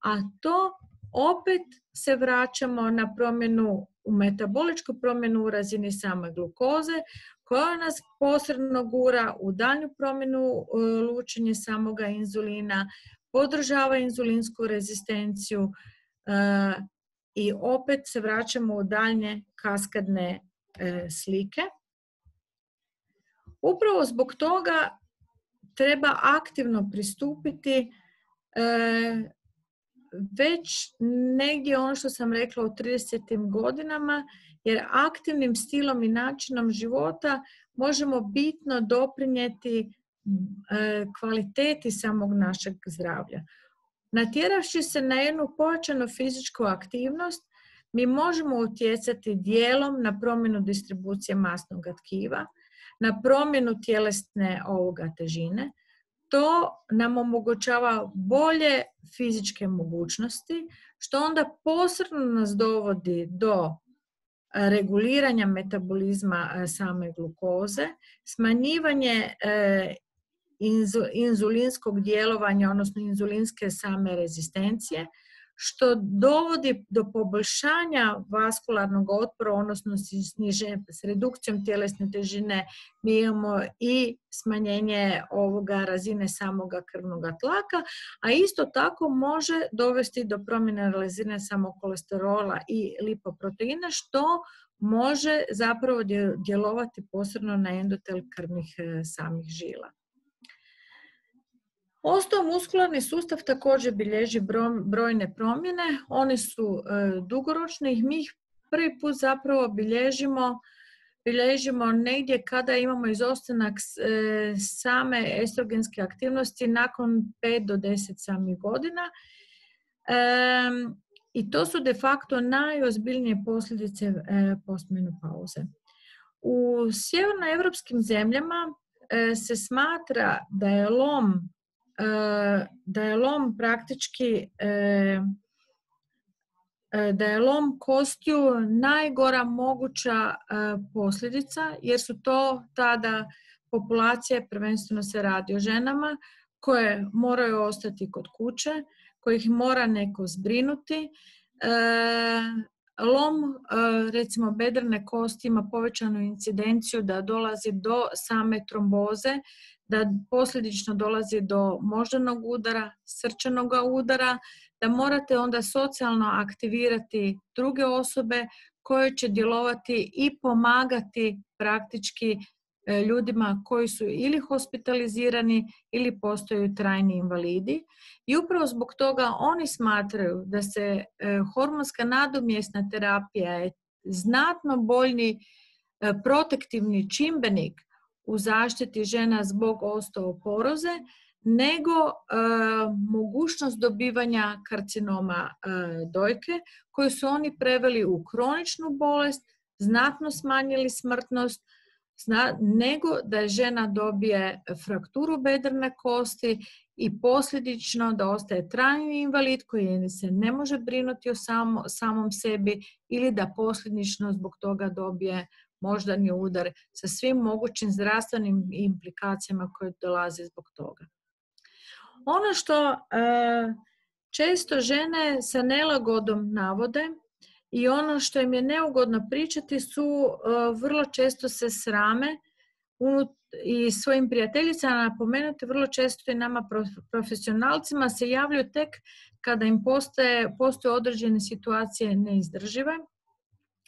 a to opet se vraćamo na promjenu, u metaboličku promjenu u razini same glukoze, koja nas posredno gura u daljnju promjenu lučenja samoga inzulina, podržava inzulinsku rezistenciju i opet se vraćamo u daljnje kaskadne slike. Upravo zbog toga treba aktivno pristupiti već negdje ono što sam rekla u 30. godinama, jer aktivnim stilom i načinom života možemo bitno doprinijeti kvaliteti samog našeg zdravlja. Natjeravši se na jednu pojačanu fizičku aktivnost, mi možemo utjecati dijelom na promjenu distribucije masnog tkiva, na promjenu tjelesne težine. To nam omogućava bolje fizičke mogućnosti, što onda posredno nas dovodi do reguliranja metabolizma same glukoze, smanjivanje inzulinskog djelovanja, odnosno inzulinske same rezistencije, što dovodi do poboljšanja vaskularnog otpora, odnosno s redukcijom tjelesne težine mi imamo i smanjenje razine samoga krvnog tlaka, a isto tako može dovesti do promjene razine samog kolesterola i lipoproteina, što može zapravo djelovati posredno na endotel krvnih samih žila. Osteomuskularni sustav također bilježi brojne promjene, one su dugoročne i mi ih prvi put zapravo bilježimo negdje kada imamo izostanak same estrogenske aktivnosti nakon 5 do 10 samih godina. I to su de facto najozbiljnije posljedice postmenopauze. U sjevernoevropskim zemljama se smatra da je lom praktički da je lom kostiju najgora moguća posljedica, jer su to tada populacije, prvenstveno se radi o ženama, koje moraju ostati kod kuće, kojih mora neko zbrinuti, lom, recimo bedrene kosti, ima povećanu incidenciju da dolazi do same tromboze, da posljedično dolazi do moždanog udara, srčanog udara, da morate onda socijalno aktivirati druge osobe koje će djelovati i pomagati praktički ljudima koji su ili hospitalizirani ili postaju trajni invalidi. I upravo zbog toga oni smatraju da se hormonska nadomjesna terapija je znatno bolji protektivni čimbenik u zaštiti žena zbog osteoporoze nego mogućnost dobivanja karcinoma dojke koju su oni preveli u kroničnu bolest, znatno smanjili smrtnost, nego da žena dobije frakturu bedrene kosti i posljedično da ostaje trajni invalid koji se ne može brinuti o samom sebi ili da posljedično zbog toga dobije moždani udar sa svim mogućim zdravstvenim implikacijama koje dolaze zbog toga. Ono što često žene sa nelagodom navode i ono što im je neugodno pričati su vrlo često se srame i svojim prijateljicama napomenuti, vrlo često i nama profesionalcima se javljaju tek kada im postoje određene situacije neizdržive,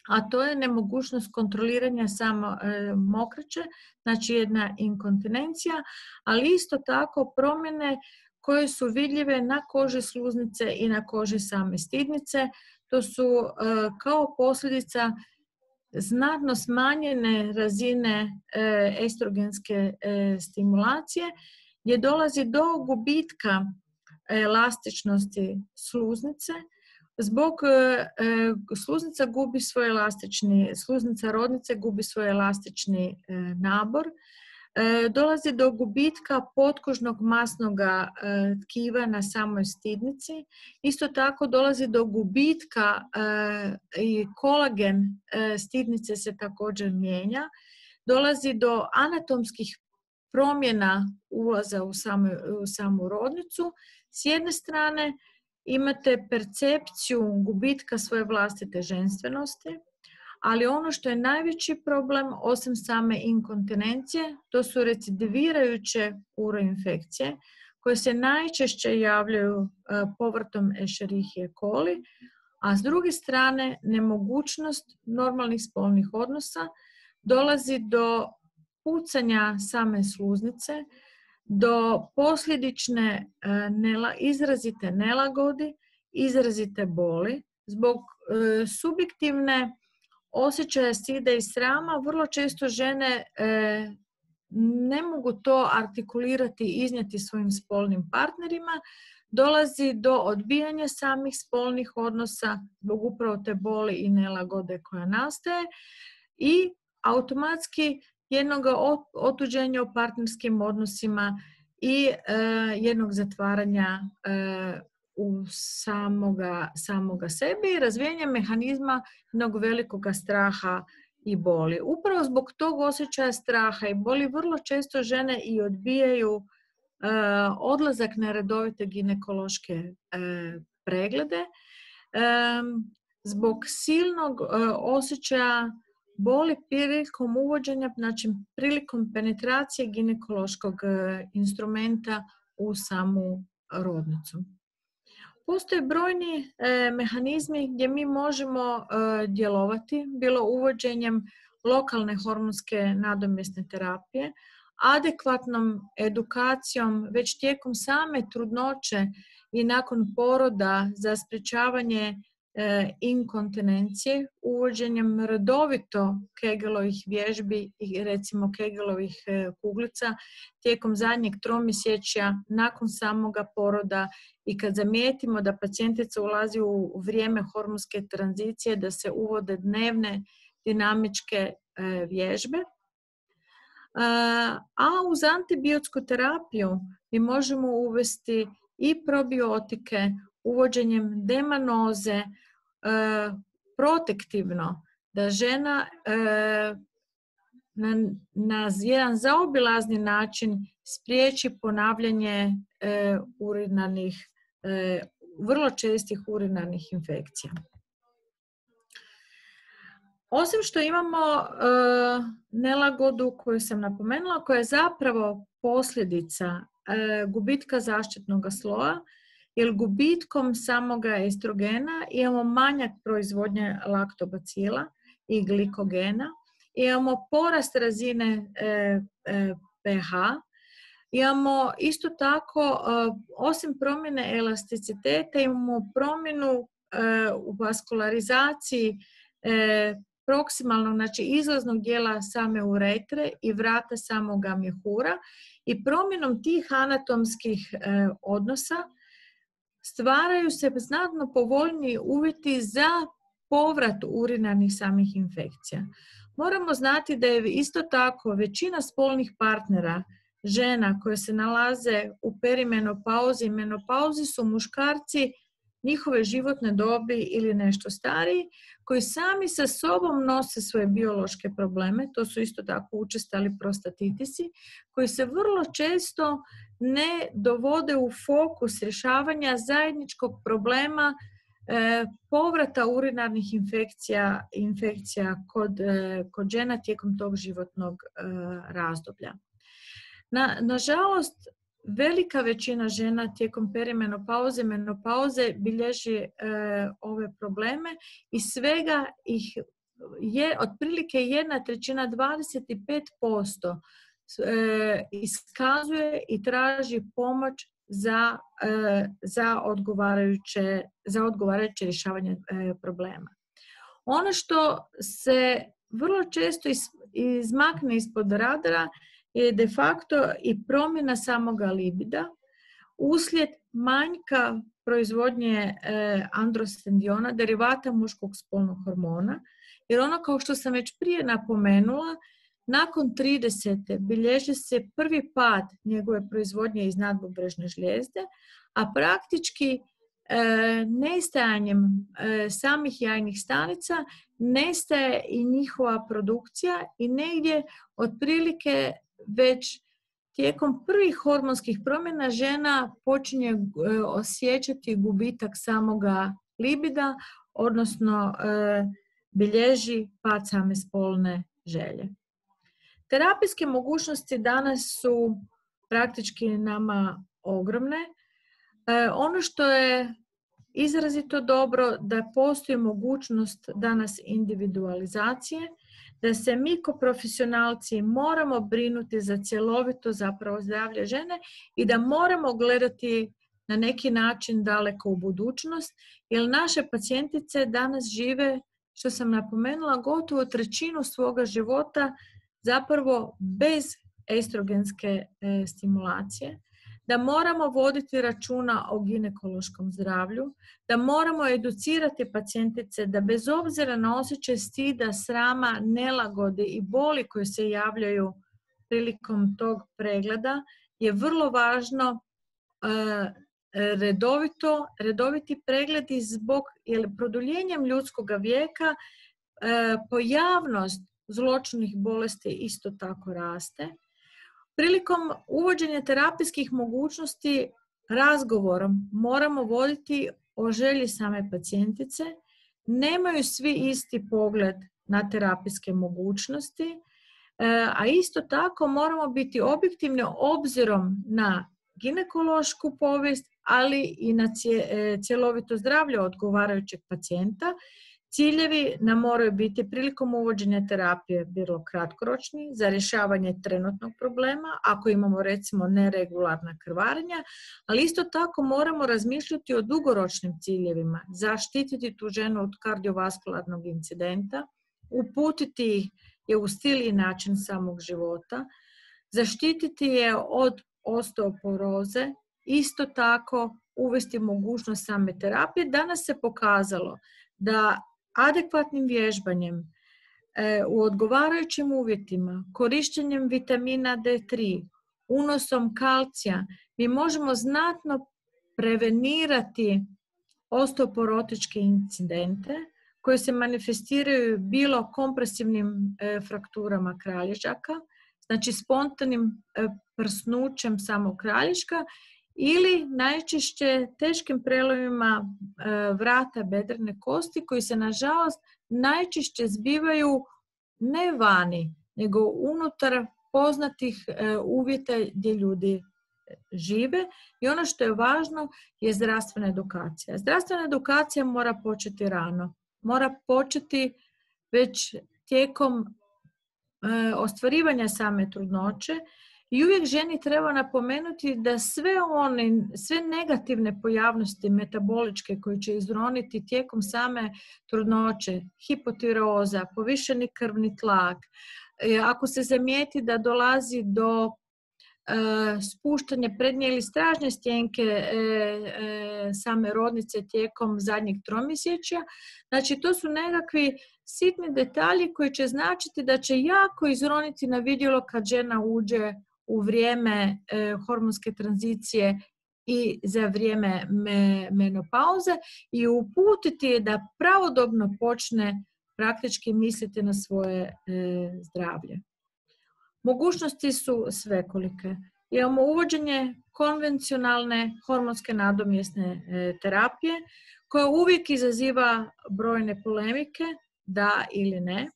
a to je nemogućnost kontroliranja samo mokraće, znači jedna inkontinencija, ali isto tako promjene koje su vidljive na koži sluznice i na koži same stidnice. To su kao posljedica znatno smanjene razine estrogenske stimulacije gdje dolazi do gubitka elastičnosti sluznice. Zbog sluznica gubi svoj sluznica rodnice gubi svoj elastični nabor. Dolazi do gubitka potkožnog masnog tkiva na samoj stidnici. Isto tako dolazi do gubitka i kolagen stidnice se također mijenja. Dolazi do anatomskih promjena ulaza u samu rodnicu. S jedne strane imate percepciju gubitka svoje vlastite ženstvenosti, ali ono što je najveći problem, osim same inkontinencije, to su recidivirajuće uroinfekcije koje se najčešće javljaju povrtom Escherichia coli, a s druge strane nemogućnost normalnih spolnih odnosa, dolazi do pucanja same sluznice, do posljedične izrazite nelagodi, izrazite boli, zbog subjektivne osjećaja stida i srama. Vrlo često žene ne mogu to artikulirati i iznijeti svojim spolnim partnerima. Dolazi do odbijanja samih spolnih odnosa zbog upravo te boli i nelagode koja nastaje i automatski jednog otuđenja u partnerskim odnosima i jednog zatvaranja u samoga sebe i razvijenja mehanizma jednog velikog straha i boli. Upravo zbog tog osjećaja straha i boli vrlo često žene i odbijaju odlazak na redovite ginekološke preglede zbog silnog osjećaja boli prilikom uvođenja, znači prilikom penetracije ginekološkog instrumenta u samu rodnicu. Postoje brojni mehanizmi gdje mi možemo djelovati, bilo uvođenjem lokalne hormonske nadomjesne terapije, adekvatnom edukacijom već tijekom same trudnoće i nakon poroda za sprječavanje inkontinencije, uvođenjem redovito Kegelovih vježbi i recimo Kegelovih kuglica tijekom zadnjeg tromjesečja nakon samoga poroda i kad zamijetimo da pacijentica ulazi u vrijeme hormonske tranzicije da se uvode dnevne dinamičke vježbe. A uz antibiotsku terapiju mi možemo uvesti i probiotike uvođenjem demanoze protektivno, da žena na jedan zaobilazni način spriječi ponavljanje vrlo čestih urinarnih infekcija. Osim što imamo nelagodu koju sam napomenula, koja je zapravo posljedica gubitka zaštitnog sloja, jer gubitkom samoga estrogena imamo manjak proizvodnje laktobacila i glikogena, imamo porast razine pH, imamo isto tako, osim promjene elasticiteta, imamo promjenu u vaskularizaciji proksimalnog, znači izlaznog dijela same uretre i vrata samoga mjehura, i promjenom tih anatomskih odnosa stvaraju se znatno povoljniji uvjeti za povrat urinarnih samih infekcija. Moramo znati da je isto tako većina spolnih partnera žena koje se nalaze u perimenopauzi i menopauzi su muškarci njihove životne dobi ili nešto stariji, koji sami sa sobom nose svoje biološke probleme, to su isto tako učestali prostatitisi, koji se vrlo često ne dovode u fokus rješavanja zajedničkog problema povrata urinarnih infekcija kod žena tijekom tog životnog razdoblja. Nažalost, velika većina žena tijekom perimenopauze i menopauze bilježi ove probleme i svega ih je otprilike 1/3, 25% iskazuje i traži pomoć za odgovarajuće rješavanje problema. Ono što se vrlo često izmakne ispod radara je de facto i promjena samoga libida uslijed manjka proizvodnje androstendiona, derivata muškog spolnog hormona, jer ono, kao što sam već prije napomenula, nakon 30. bilježi se prvi pad njegove proizvodnje iz nadbubrežne žlijezde, a praktički nestajanjem samih jajnih stanica nestaje i njihova produkcija i negdje otprilike već tijekom prvih hormonskih promjena žena počinje osjećati gubitak samoga libida, odnosno bilježi pad same spolne želje. Terapijske mogućnosti danas su praktički nama ogromne. Ono što je izrazito dobro, da postoji mogućnost danas individualizacije, da se mi kao profesionalci moramo brinuti za cjelovito zapravo zdravlje žene i da moramo gledati na neki način daleko u budućnost, jer naše pacijentice danas žive, što sam napomenula, gotovo 1/3 svoga života zapravo bez estrogenske stimulacije, da moramo voditi računa o ginekološkom zdravlju, da moramo educirati pacijentice da bez obzira na osjećaj stida, srama, nelagode i boli koje se javljaju prilikom tog pregleda, je vrlo važno redoviti pregledi zbog, jer produljenjem ljudskog vijeka pojavnost zloćudnih bolesti isto tako raste. Prilikom uvođenja terapijskih mogućnosti razgovorom moramo voditi o želji same pacijentice. Nemaju svi isti pogled na terapijske mogućnosti, a isto tako moramo biti objektivni obzirom na ginekološku povijest, ali i na cjelovito zdravlje odgovarajućeg pacijenta. Ciljevi nam moraju biti prilikom uvođenja terapije bilo kratkoročni za rješavanje trenutnog problema, ako imamo recimo neregularna krvarenja, ali isto tako moramo razmišljati o dugoročnim ciljevima, zaštititi tu ženu od kardiovaskularnog incidenta, uputiti je u stil i način samog života, zaštititi je od osteoporoze, isto tako uvesti mogućnost same terapije. Danas se pokazalo da adekvatnim vježbanjem u odgovarajućim uvjetima, korištenjem vitamina D3, unosom kalcija, mi možemo znatno prevenirati osteoporotičke incidente koje se manifestiraju bilo kompresivnim frakturama kralježaka, znači spontanim prsnućem samog kralježka, ili najčešće teškim prelomima vrata bedrene kosti koji se nažalost najčešće zbivaju ne vani, nego unutar poznatih uvjeta gdje ljudi žive. I ono što je važno je zdravstvena edukacija. Zdravstvena edukacija mora početi rano. Mora početi već tijekom ostvarivanja same trudnoće i uvijek ženi treba napomenuti da sve negativne pojavnosti metaboličke koje će izroniti tijekom same trudnoće, hipotiroza, povišeni krvni tlak, ako se zamijeti da dolazi do spuštanja prednje ili stražnje stjenke same rodnice tijekom zadnjeg tromjesečja. Znači, to su nekakvi sitni detalji koji će značiti da će jako izroniti na vidjelo kad žena uđe u vrijeme hormonske tranzicije i za vrijeme menopauze i uputiti je da pravodobno počne praktički misliti na svoje zdravlje. Mogućnosti su svekolike. Imamo uvođenje konvencionalne hormonske nadomjesne terapije koja uvijek izaziva brojne polemike, da ili ne.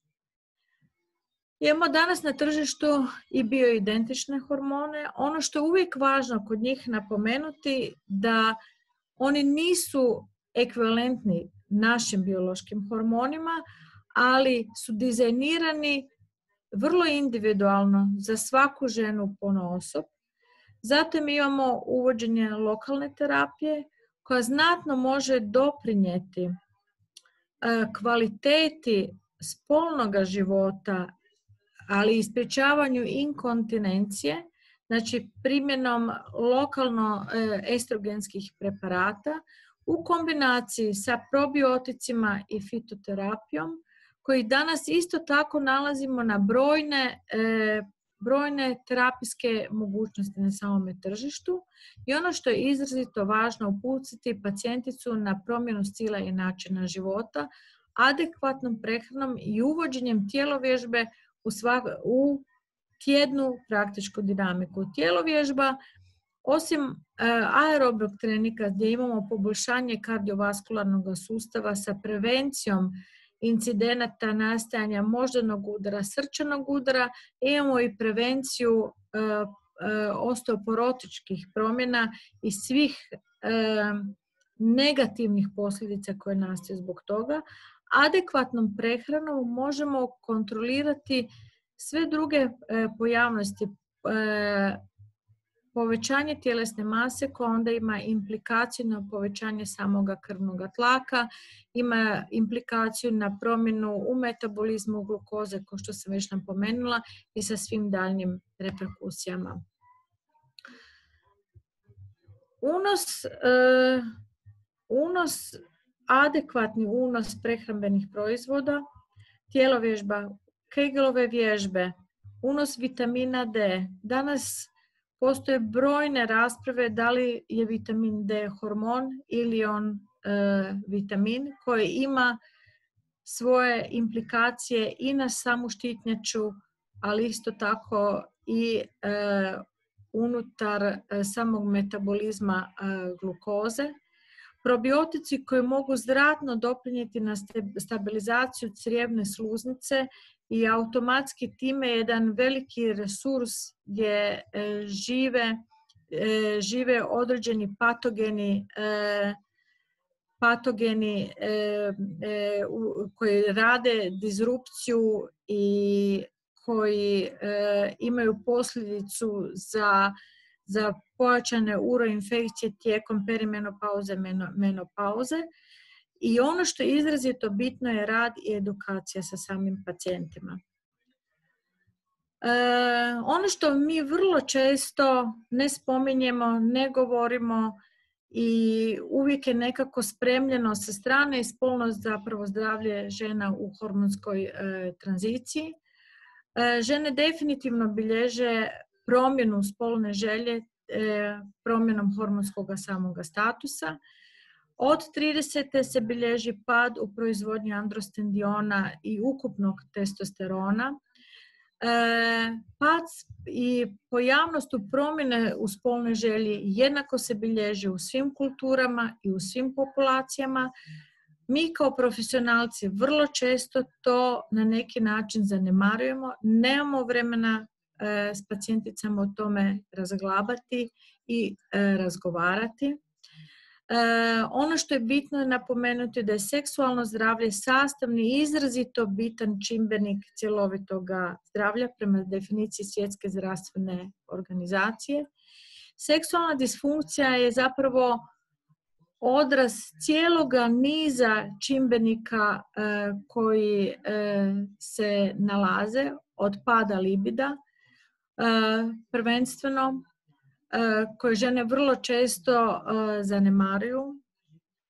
Imamo danas na tržištu i bioidentične hormone. Ono što je uvijek važno kod njih napomenuti da oni nisu ekvivalentni našim biološkim hormonima, ali su dizajnirani vrlo individualno za svaku ženu ponaosob. Zatim imamo uvođenje lokalne terapije koja znatno može doprinijeti kvaliteti spolnoga života, ali i sprječavanju inkontinencije, znači primjenom lokalno estrogenskih preparata u kombinaciji sa probioticima i fitoterapijom, koji danas isto tako nalazimo na brojne terapijske mogućnosti na samome tržištu. I ono što je izrazito važno, uputiti pacijenticu na promjenu stila i načina života, adekvatnom prehranom i uvođenjem tjelovježbe u tjednu praktičku dinamiku. Tjelovježba, osim aerobnog treninga gdje imamo poboljšanje kardiovaskularnog sustava sa prevencijom incidenata nastajanja moždanog udara, srčanog udara, imamo i prevenciju osteoporotičkih promjena i svih negativnih posljedica koje nastaju zbog toga. Adekvatnom prehranom možemo kontrolirati sve druge pojavnosti. Povećanje tjelesne mase koja onda ima implikaciju na povećanje samoga krvnog tlaka, ima implikaciju na promjenu u metabolizmu glukoze, kao što sam već napomenula, i sa svim daljnjim reperkusijama. Adekvatni unos prehrambenih proizvoda, tjelovježba, Kegelove vježbe, unos vitamina D. Danas postoje brojne rasprave da li je vitamin D hormon ili on vitamin koji ima svoje implikacije i na samu štitnjaču, ali isto tako i unutar samog metabolizma glukoze. Probiotici koji mogu znatno doprinijeti na stabilizaciju crijevne sluznice i automatski time jedan veliki resurs gdje žive određeni patogeni koji rade disrupciju i koji imaju posljedicu za pojačane uroinfekcije tijekom perimenopauze, menopauze. I ono što je izrazito bitno je rad i edukacija sa samim pacijentima. Ono što mi vrlo često ne spominjemo, ne govorimo i uvijek je nekako spremljeno sa strane i spolno zapravo zdravlje žena u hormonskoj tranziciji. Žene definitivno bilježe promjenu spolne želje promjenom hormonskog samoga statusa. Od 30. se bilježi pad u proizvodnji androstendiona i ukupnog testosterona. Pad i pojavnost u promjene u spolnoj želji jednako se bilježi u svim kulturama i u svim populacijama. Mi kao profesionalci vrlo često to na neki način zanemarujemo, nemamo vremena s pacijenticama o tome razglabati i razgovarati. Ono što je bitno napomenuti da je seksualno zdravlje sastavni i izrazito bitan čimbenik cjelovitog zdravlja prema definiciji Svjetske zdravstvene organizacije. Seksualna disfunkcija je zapravo odraz cijeloga niza čimbenika koji se nalaze od pada libida, prvenstveno, koje žene vrlo često zanemaruju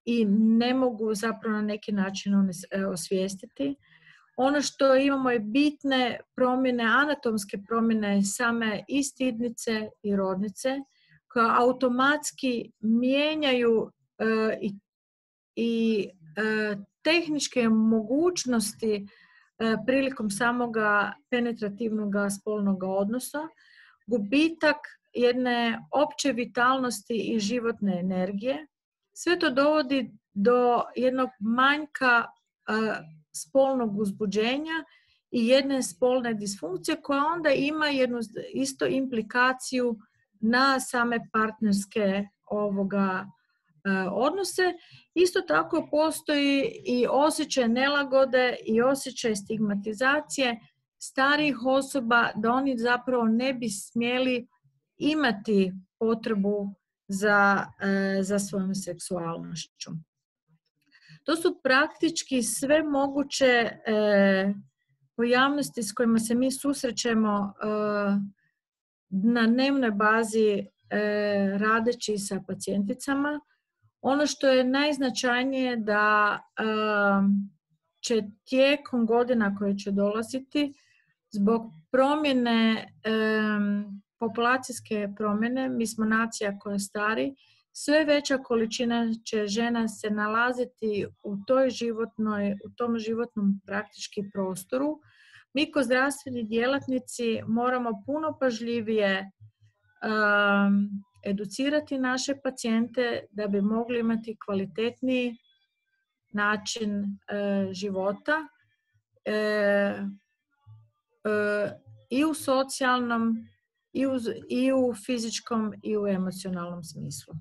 i ne mogu zapravo na neki način osvijestiti. Ono što imamo je bitne promjene, anatomske promjene same i stidnice i rodnice, koje automatski mijenjaju i tehničke mogućnosti prilikom samoga penetrativnog spolnog odnosa, gubitak jedne opće vitalnosti i životne energije. Sve to dovodi do jednog manjka spolnog uzbuđenja i jedne spolne disfunkcije koja onda ima jednu isto implikaciju na same partnerske odnose. Isto tako postoji i osjećaj nelagode i osjećaj stigmatizacije starijih osoba da oni zapravo ne bi smjeli imati potrebu za svojom seksualnošću. To su praktički sve moguće pojavnosti s kojima se mi susrećemo na dnevnoj bazi radeći sa pacijenticama. Ono što je najznačajnije da će tijekom godina koje će dolaziti zbog promjene, populacijske promjene, mi smo nacija koja stari, sve veća količina će žena se nalaziti u tom životnom praktički prostoru. Mi kao zdravstveni djelatnici moramo puno pažljivije educirati naše pacijente da bi mogli imati kvalitetniji način života i u socijalnom, i u fizičkom i u emocionalnom smislu.